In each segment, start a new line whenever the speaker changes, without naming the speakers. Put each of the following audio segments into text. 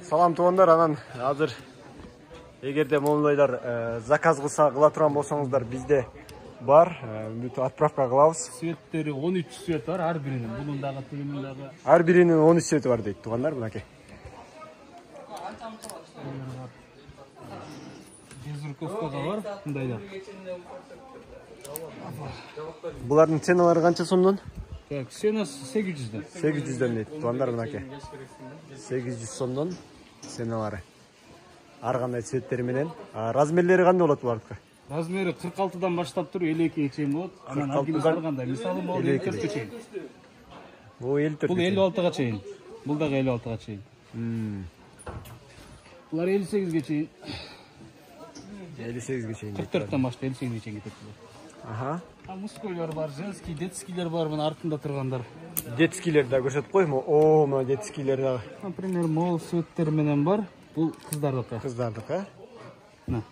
Салам туугандар, анан азыр эгерде моунуйлар заказ кыла турган болсоңуздар, бизде бар, бүт отправка кылабыз.
Светтери 13 свет бар, ар биринин. Бунун дагы тигинин дагы.
Ар биринин 13 свети бар дейт туугандар, мынакей.
Безруковка да бар, мындайда.
Булардын ценалары канча сомдон?
Так, ценасы 800дөн.
800дөн дейт туугандар, мынакей. 800 сомдон ценалары. Ар кандай цветтери менен. Размерлери кандай болот булардыкы?
Размери 46дан баштап туруп 52ге чейин болот. Анан ар кандай. Мисалы, могу 54ге чейин.
Бул 54.
Бул 56га чейин. Бул дагы 56га чейин. Булар 58ге чейин.
58ге чейин.
44дөн баштап 58ге чейин кетет булар.
Аха.
Мужскойлор бар, женский, детскийлер бар, мына артында тургандар.
Детскийлер да көрсөтүп койму? О, мына детскийлер дагы.
Например, мол светтер менен бар. Бул кыздардыкы.
Кыздардыкы,
Мына.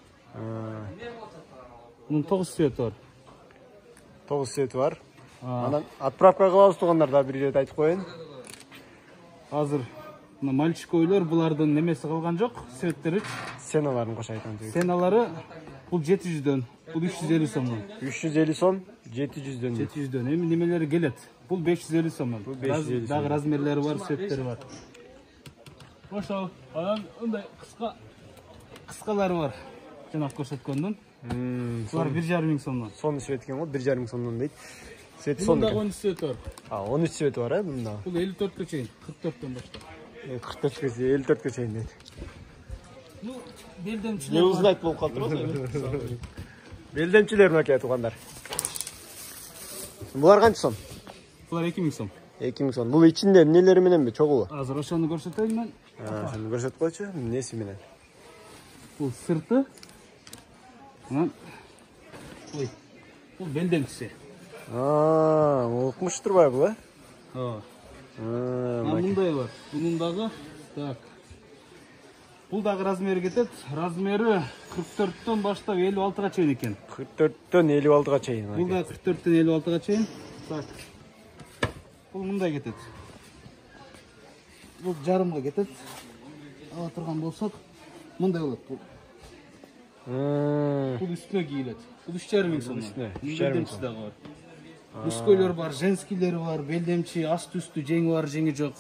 Мунун 9 свети бар.
9 свети бар. Анан отправка кылабыз туугандар, да бир ирет айтып коеюн.
Азыр мына мальчикойлор булардын немеси калган жок, светтери.
Ценаларын кош айтам жигит.
Ценалары бул 700дөн, бул 350 сомдон.
350 сом, 700дөн.
700дөн. Эми немелери келет. Бул 550 сомдон.
Бул 550
Дагы размерлери бар, светтери бар. Ошол. Анан мындай кыскалары бар. Жана көрсөткөндүн. Булар 1,5 сомдон.
Сонун свет экен го, 1,5 сомдон дейт. Свети
Сонун.
сонун.
Мында 13 свет бар.
13 свети бар, мында.
Бул 54ге чейин, 44дөн баштап.
44ге чейин, 54ге чейин дейт.
Ну, белдемчилер.
Не узнать болуп калдырбы? Белдемчилер мынакей туугандар. Булар канча сом?
Булар 2000 сом.
2000 сом. Бул ичинде эмнелери мененби, чогубу?
Азыр ошону көрсөтөйүн мен.
Ошону көрсөтүп койчу, эмнеси менен?
Бул сырты. Ой. Бул белдемчиси.
Окмуш турбайбы бул,
Ооба. Мындай бар. Бунун дагы так. Бул дагы размери кетет. Размери 44дөн баштап 56га чейин экен.
44дөн 56га чейин.
Бул да 44дөн 56га чейин. Так. Бул мындай кетет. Бул жарымга кетет. Ала турган болсок, мындай болот бул. Бул үстүнө кийилет. Бул 3,5 сом. Белдемчи дагы бар. Мужскойлор бар, женскийлер бар, белдемчи, асты үстү, жеңи бар, жеңи жок.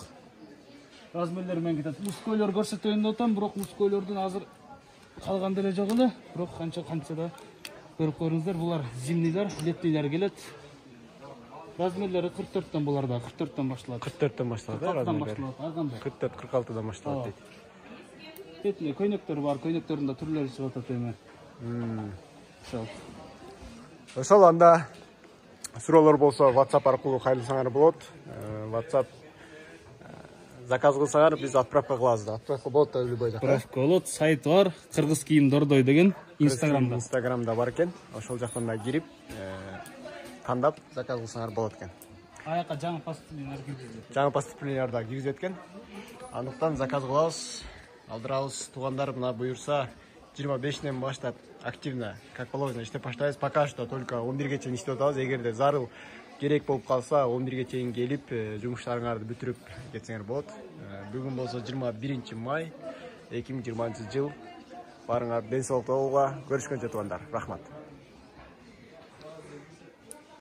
Размерлер менен кетет. Мужскойлор көрсөтөйүн деп атам, бирок мужскойлордун азыр калган деле жок эле. Бирок канча да көрүп көрүңүздөр, булар зимнийлер, летнийлер келет. Размерлери 44дөн булар да, 44дөн башталат.
44дөн башталат, размерлери. 44-46дан башталат дейт.
Летний көйнөктөр бар, көйнөктөрдүн да түрлөрү чыгып атат эми.
Ошол анда суроолор болсо WhatsApp аркылуу кайрылсаңар болот. WhatsApp заказ кылсаңар биз отправка кылабыз да. Отправка болот да любой жакка.
Отправка болот, сайт бар, кыргыз кийим дордой деген Инстаграмда.
Инстаграмда бар экен. Ошол жактан да кирип, тандап заказ кылсаңар болот экен.
Аяка жаңы поступлениялар киргизет.
Жаңы поступлениялар да киргизет экен. Андыктан заказ кылабыз, алдырабыз туугандар, мына буюрса 25ден баштап активно, как положено, иштеп баштайбыз. Пока что только 11ге чейин иштеп атабыз. Эгерде зарыл керек болуп калса, 11ге чейин келип, жумуштарыңарды бүтүрүп кетсеңер болот. Бүгүн болсо 21 май 2020 жыл. Барыңар ден соолукта болууга. Көрүшкөнчө туугандар. Рахмат.